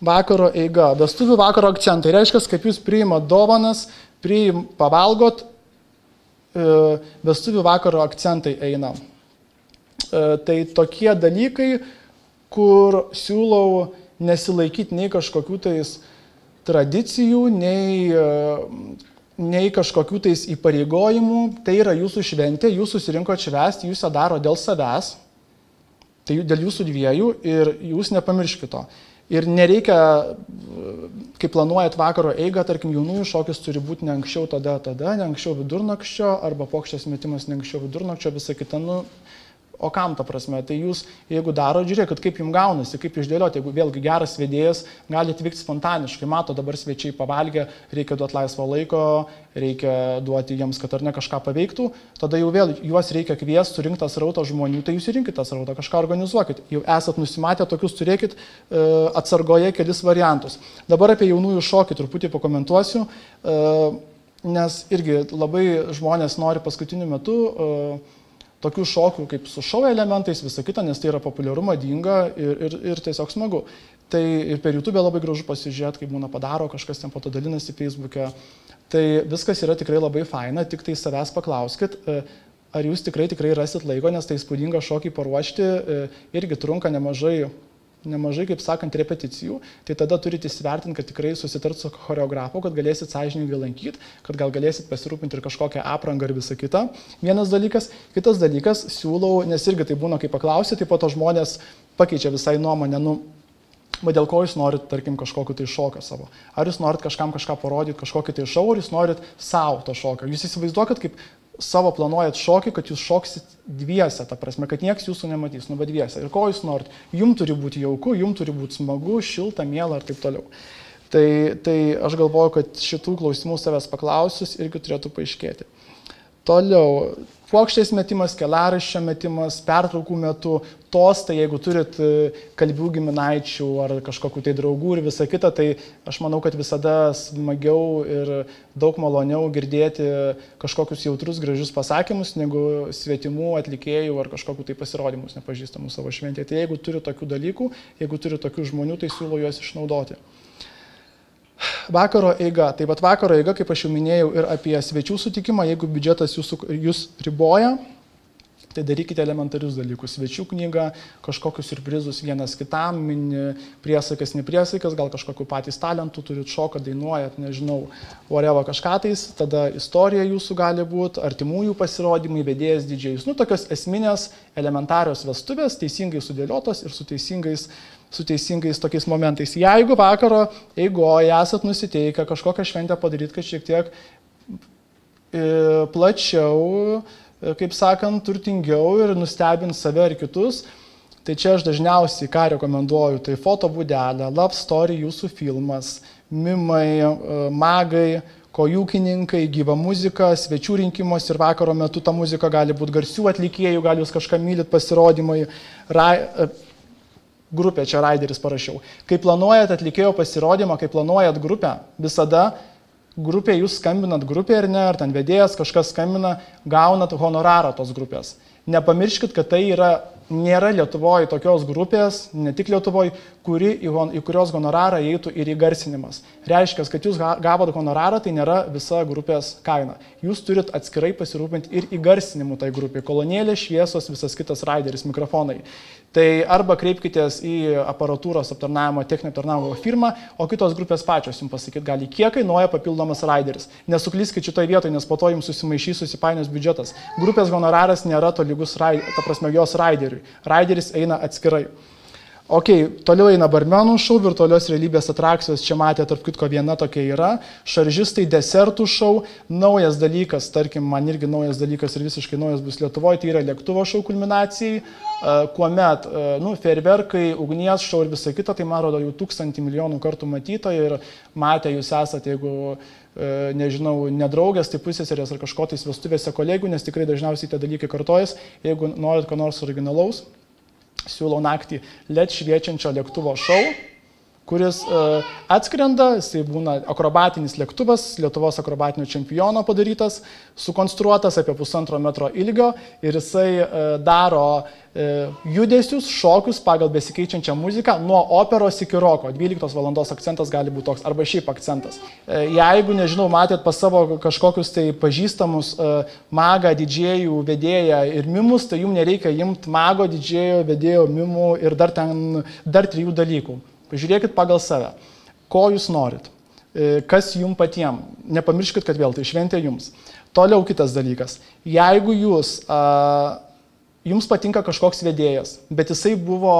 vakaro eiga. Vestuvių vakaro akcentai. Reiškia, kaip jūs priimat dovanas, pavalgot, vestuvių vakaro akcentai eina. Tai tokie dalykai, kur siūlau nesilaikyti nei kažkokių tais tradicijų, nei kažkokių tais įpareigojimų. Tai yra jūsų šventė, jūs susirinko švęsti, jūs ją daro dėl savęs, tai dėl jūsų dviejų ir jūs nepamirškite to. Ir nereikia, kai planuojat vakaro eigą, tarkim, jaunųjų šokis turi būti ne anksčiau tada, ne anksčiau vidurnakčio, arba pokštės metimas ne anksčiau vidurnakčio, visa kita, o kam ta prasme? Tai jūs, jeigu daro, žiūrėkit, kaip jums gaunasi, kaip išdėlioti, jeigu vėlgi geras vedėjas, gali atvykti spontaniškai, mato, dabar svečiai pavalgė, reikia duoti laisvo laiko, reikia duoti jiems, kad ar ne kažką paveiktų, tada jau vėl juos reikia kviesti, surinkti srautą žmonių, tai jūs įrinkite tą srautą, kažką organizuokit, jau esat nusimatę tokius, turėkit atsargoje kelis variantus. Dabar apie jaunųjų šokį truputį pakomentuosiu, nes irgi labai žmonės nori paskutiniu metu tokių šokių kaip su šou elementais, visa kita, nes tai yra populiaru, madinga ir tiesiog smagu. Tai ir per YouTube labai gražu pasižiūrėti, kaip būna padaro, kažkas ten po to dalinasi Facebook'e. Tai viskas yra tikrai labai faina, tik tai savęs paklauskit, ar jūs tikrai rasit laiko, nes tai įspūdingą šokį paruošti irgi trunka nemažai, kaip sakant, repeticijų, tai tada turite įsivertinti, kad tikrai susitart su choreografu, kad galėsit sąžiningai lankyti, kad gal galėsit pasirūpinti ir kažkokią aprangą ir visą kitą. Vienas dalykas. Kitas dalykas, siūlau, nes irgi tai būna, kai paklausi, tai po to žmonės pakeičia visai nuomonę, dėl ko jūs norit, tarkim, kažkokį tai šoką savo. Ar jūs norit kažkam kažką parodyti, kažkokį tai šou, ar jūs norit savo to šoką. Jūs įsivaizduokit, kaip savo planuojat šokį, kad jūs šoksit dviese, ta prasme, kad nieks jūsų nematys, bet dviese. Ir ko jūs norit? Jums turi būti jauku, jums turi būti smagu, šilta, miela ir taip toliau. Tai aš galvoju, kad šitų klausimų savęs paklausius irgi turėtų paaiškėti. Toliau, puokštės metimas, kelaraščio metimas, pertraukų metu, tostai, jeigu turit kalbių giminaičių ar kažkokių tai draugų ir visa kita, tai aš manau, kad visada smagiau ir daug maloniau girdėti kažkokius jautrus, gražius pasakymus, negu svetimų atlikėjų ar kažkokių tai pasirodymus nepažįstamų savo šventėje. Tai jeigu turi tokių dalykų, jeigu turi tokių žmonių, tai siūlau juos išnaudoti. Vakaro eiga. Tai vat vakaro eiga, kaip aš jau minėjau, ir apie svečių sutikimą, jeigu biudžetas jūs riboja, tai darykite elementarius dalykus. Svečių knygą, kažkokius surprizus vienas kitam, mini priesaikas, nepriesaikas, gal kažkokiu patys talentų turit, šoką, dainuojat, nežinau, whatever kažką tais, tada istorija jūsų gali būti, artimųjų pasirodymai, vedėjas, didžėjus. Tokios esminės, elementarios vestuvės, teisingai sudėliotos ir su teisingais tokiais momentais. Jeigu vakaro eigoje esat nusiteikę kažkokią šventę padaryti, kad šiek tiek plačiau, kaip sakant, turtingiau ir nustebint save ir kitus, tai čia aš dažniausiai ką rekomenduoju, tai fotobūdelė, love story, jūsų filmas, mimai, magai, kojūkininkai, gyva muzika, svečių rinkimos ir vakaro metu ta muzika gali būti garsių atlikėjų, gal jūs kažką mylit, pasirodymai, grupė, čia Raideris parašiau. Kai planuojat atlikėjo pasirodymą, kai planuojat grupę, visada grupė, jūs skambinat grupė ar ne, ar ten vedėjas kažkas skambina, gaunat honorarą tos grupės. Nepamirškit, kad tai nėra Lietuvoje tokios grupės, ne tik Lietuvoje, į kurios honorarą eitų ir įgarsinimas. Reiškia, kad jūs gavot honorarą, tai nėra visa grupės kaina. Jūs turit atskirai pasirūpinti ir įgarsinimu tai grupė. Kolonėlė, šviesos, visas kitas Raideris, mikrofonai. Tai arba kreipkitės į aparatūros aptarnavimo, techninio aptarnavimo firmą, o kitos grupės pačios jums pasakyti gali, kiek kainuoja papildomas Raideris. Nesuklyskit šitoje vietoje, nes po to jums susimaišys, susipainios biudžetas. Grupės honoraras nėra tolygus, ta prasme, jos Raideriui. Raideris eina atskirai. Ok, toliau eina barmenų šou, virtualios realybės atrakcijos, čia matė, tarp kitko viena tokia yra, šaržistai, desertų šou, naujas dalykas, tarkim, man irgi naujas dalykas ir visiškai naujas bus Lietuvoje, tai yra lėktuvo šou kulminacijai, kuomet, fejerverkai, ugnies šou ir visa kita, tai man rodo jau 1000 milijonų kartų matyto ir matę jūs esate, jeigu, nežinau, nedraugės, tai pusėserės ar kažko tais vestuvėse kolegų, nes tikrai dažniausiai tie dalykai kartojas, jeigu norit ko nors originalaus, siūlau naktį LED šviečiančio lėktuvo šou, kuris atskrenda, jisai būna akrobatinis lėktuvas, Lietuvos akrobatinio čempiono padarytas, sukonstruotas apie 1,5 metro ilgio ir jisai daro judesius, šokius pagal besikeičiančią muziką nuo operos iki roko. 12 valandos akcentas gali būti toks, arba šiaip akcentas. Jeigu, nežinau, matėt pas savo kažkokius tai pažįstamus magą, didžėjų, vedėją ir mimus, tai jums nereikia imti mago, didžėjo, vedėjo, mimų ir dar 3 dalykų. Pažiūrėkit pagal save, ko jūs norit, kas jums patiem. Nepamirškit, kad vėl tai šventė jums. Toliau kitas dalykas. Jeigu jums patinka kažkoks vedėjas, bet jisai buvo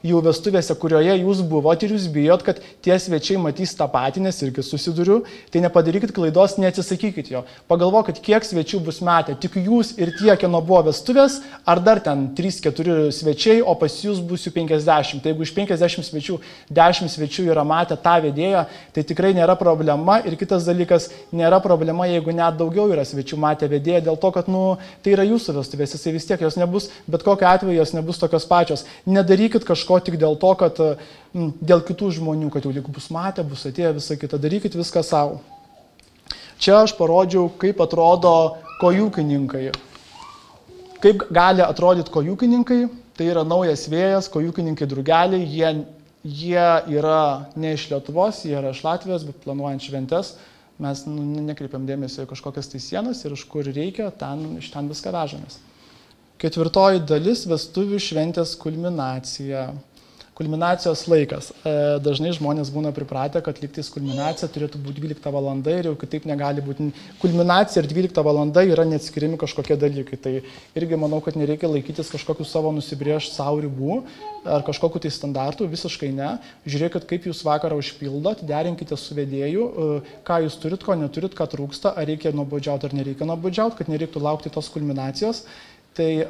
jau vestuvėse, kurioje jūs buvot ir jūs bijot, kad tie svečiai matys tą patį, nes irgi susiduriu, tai nepadarykit klaidos, neatsisakykit jo. Pagalvokit, kiek svečių bus metę, tik jūs ir tie, kieno buvo vestuvės, ar dar ten 3-4 svečiai, o pas jūs bus jų 50. Tai jeigu iš 50 svečių 10 svečių yra matę tą vedėją, tai tikrai nėra problema. Ir kitas dalykas, nėra problema, jeigu net daugiau yra svečių matę vedėją, dėl to, kad tai yra jūsų vestuvės, jisai vis tiek jos nebus. Bet kokiu atveju jos nebus tokios pačios. Nedarykit kažko tik dėl to, kad dėl kitų žmonių, kad jau lyg bus matę, bus atėję, visą kitą. Darykit viską savo. Čia aš parodžiau, kaip atrodo kojūkininkai. Kaip gali atrodyti kojūkininkai. Tai yra naujas vėjas, kojūkininkai drugeliai. Jie yra ne iš Lietuvos, jie yra iš Latvijos, bet planuojant šventes. Mes nekreipiam dėmesio į kažkokias tai sienas ir iš kur reikia, iš ten viską vežamės. 4 dalis - vestuvių šventės kulminacija. Kulminacijos laikas. Dažnai žmonės būna pripratę, kad lygtais kulminacija turėtų būti 12 valanda ir jau kitaip negali būti. Kulminacija ir 12 valanda yra neatskiriami kažkokie dalykai. Tai irgi manau, kad nereikia laikytis kažkokių savo nusibrėžt savo ribų ar kažkokių tai standartų, visiškai ne. Žiūrėkit, kaip jūs vakarą užpildot, derinkite su vedėju, ką jūs turit, ko neturit, ką trūksta, ar reikia nuobodžiauti ar nereikia nuobodžiauti, kad nereiktų laukti tos kulminacijos. Tai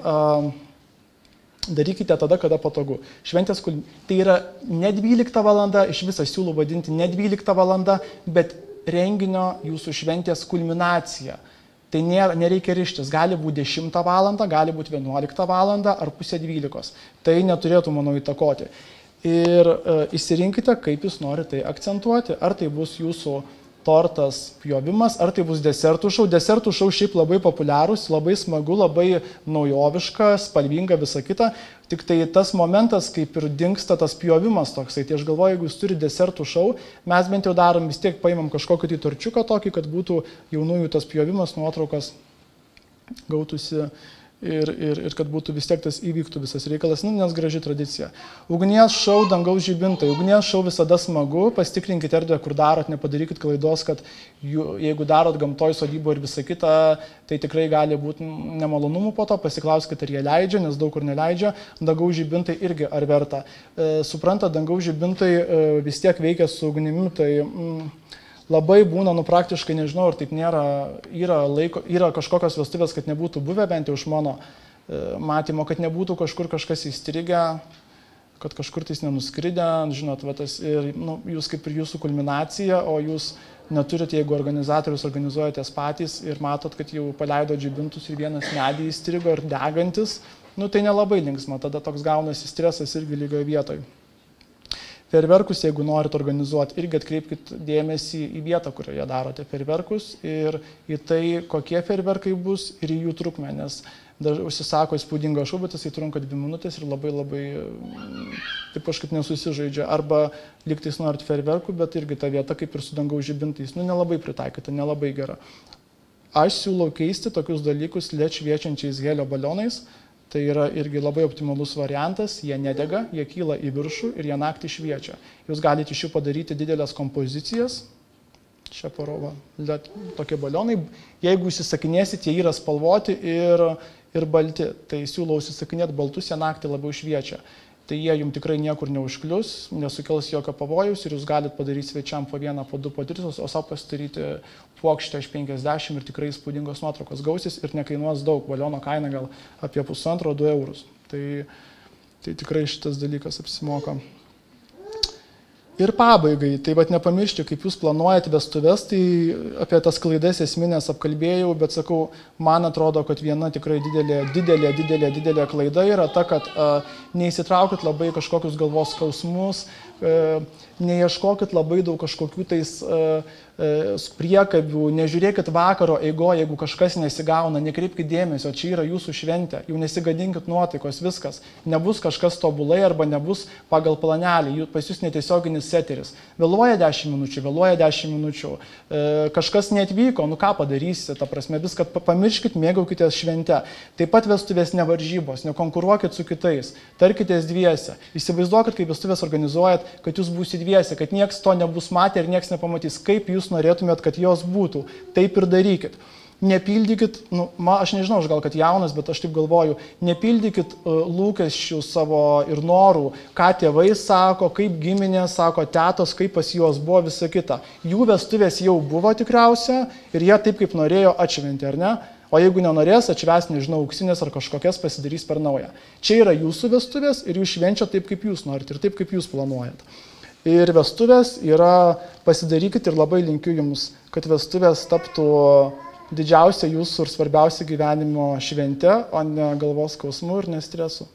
darykite tada, kada patogu. Šventės tai yra ne 12 valanda, iš viso siūlau vadinti ne 12 valanda, bet renginio jūsų šventės kulminacija. Tai nereikia rištis, gali būti 10 valandą, gali būti 11 valandą ar pusė 12. Tai neturėtų, manau, įtakoti. Ir išsirinkite, kaip jūs norite tai akcentuoti, ar tai bus jūsų tortas pjovimas, ar tai bus desertų šou. Desertų šou šiaip labai populiarūs, labai smagu, labai naujoviška, spalvinga, visa kita. Tik tai tas momentas, kaip ir dingsta tas pjovimas toksai. Tai aš galvoju, jeigu jūs turite desertų šou, mes bent jau darom, vis tiek paimam kažkokį tai torčiuką tokį, kad būtų jaunųjų tas pjovimas, nuotraukas gautųsi. Ir kad būtų vis tiek tas įvyktų visas reikalas, nes graži tradicija. Ugnies šou, dangaus žibintai. Ugnies šou visada smagu, pasitikrinkite erdvę, kur darot, nepadarykit klaidos, kad jeigu darot gamtoj sodybo ir visą kitą, tai tikrai gali būti nemalonumų po to, pasiklauskite, ar jie leidžia, nes daug kur neleidžia. Dangaus žibintai irgi ar verta. Supranta, dangaus žibintai vis tiek veikia su ugnimi, tai labai būna, praktiškai nežinau, ar taip nėra, yra kažkokios vestuvės, kad nebūtų buvę, bent jau iš mano matymo, kad nebūtų kažkur kažkas įstrigę, kad kažkur tais nenuskridę, žinot, ir jūs kaip ir jūsų kulminacija, o jūs neturite, jeigu organizatorius organizuojatės patys ir matot, kad jau paleido žibintus ir vienas medį įstrigo ir degantis, tai nelabai linksma, tada toks gaunasi stresas irgi lygioje vietoje. Fejerverkus, jeigu norit organizuoti, irgi atkreipkite dėmesį į vietą, kurioje darote fejerverkus ir į tai, kokie fejerverkai bus ir į jų trukmę, nes užsisako įspūdingo šou, bet jisai trunka 2 minutės ir labai taip kažkaip nesusižaidžia. Arba lygtais norit fejerverkų, bet irgi ta vieta, kaip ir su dangaus žibintais, nelabai pritaikyta, nelabai gera. Aš siūlau keisti tokius dalykus LED šviečiančiais helio balionais. Tai yra irgi labai optimalus variantas, jie nedega, jie kyla į viršų ir jie naktį šviečia. Jūs galite iš jų padaryti didelės kompozicijas, čia parodo tokie balionai, jeigu užsisakinėsit, jie yra spalvoti ir balti, tai siūlau užsisakinėti baltus, jie naktį labiau šviečia. Tai jie jums tikrai niekur neužklius, nesukels jokio pavojaus ir jūs galite padaryti svečiam po 1, po 2, po 3, o savo pasidaryti puokštę iš 50 ir tikrai įspūdingos nuotraukos gausis ir nekainuos daug, baliono kaina gal apie 1,5–2 eurus. Tai tikrai šitas dalykas apsimoka. Ir pabaigai, tai nepamiršti, kaip jūs planuojate vestuves, tai apie tas klaidas esminės apkalbėjau, bet sakau, man atrodo, kad viena tikrai didelė klaida yra ta, kad neįsitraukit labai kažkokius galvos skausmus, neieškokit labai daug kažkokių tais priekabių, nežiūrėkit vakaro eigoje, jeigu kažkas nesigauna, nekreipkit dėmesio, čia yra jūsų šventė, jau nesigadinkit nuotaikos, viskas. Nebus kažkas tobulai arba nebus pagal planelį, pas jūs netiesioginis seteris. Vėluoja 10 minučių, kažkas neatvyko, nu ką padarysi, ta prasme, viską pamirškit, mėgaukitės šventę. Taip pat vestuvės nevaržybos, nekonkuruokit su kitais, tarkitės dviese. Įsivaizduokit, kaip vestuvės organizuojat, kad jūs būsit dviese, kad nieks to nebus matę ir nieks nepamatys, kaip jūs norėtumėt, kad jos būtų. Taip ir darykit. Nepildykit, aš nežinau, aš gal kad jaunas, bet aš taip galvoju, nepildykit lūkesčių savo ir norų, ką tėvai sako, kaip giminė sako, tetos, kaip pas juos buvo, visa kita. Jų vestuvės jau buvo tikriausia ir jie taip, kaip norėjo, atšventė, ar ne? O jeigu nenorės, atšvęs, nežinau, auksinės ar kažkokias pasidarys per naują. Čia yra jūsų vestuvės ir jūs švenčia taip, kaip jūs norit ir taip, kaip jūs planuojat. Ir vestuvės yra, pasidarykit ir labai linkiu jums, kad vestuvės taptų didžiausia jūsų ir svarbiausia gyvenimo švente, o ne galvos skausmu ir nestresu.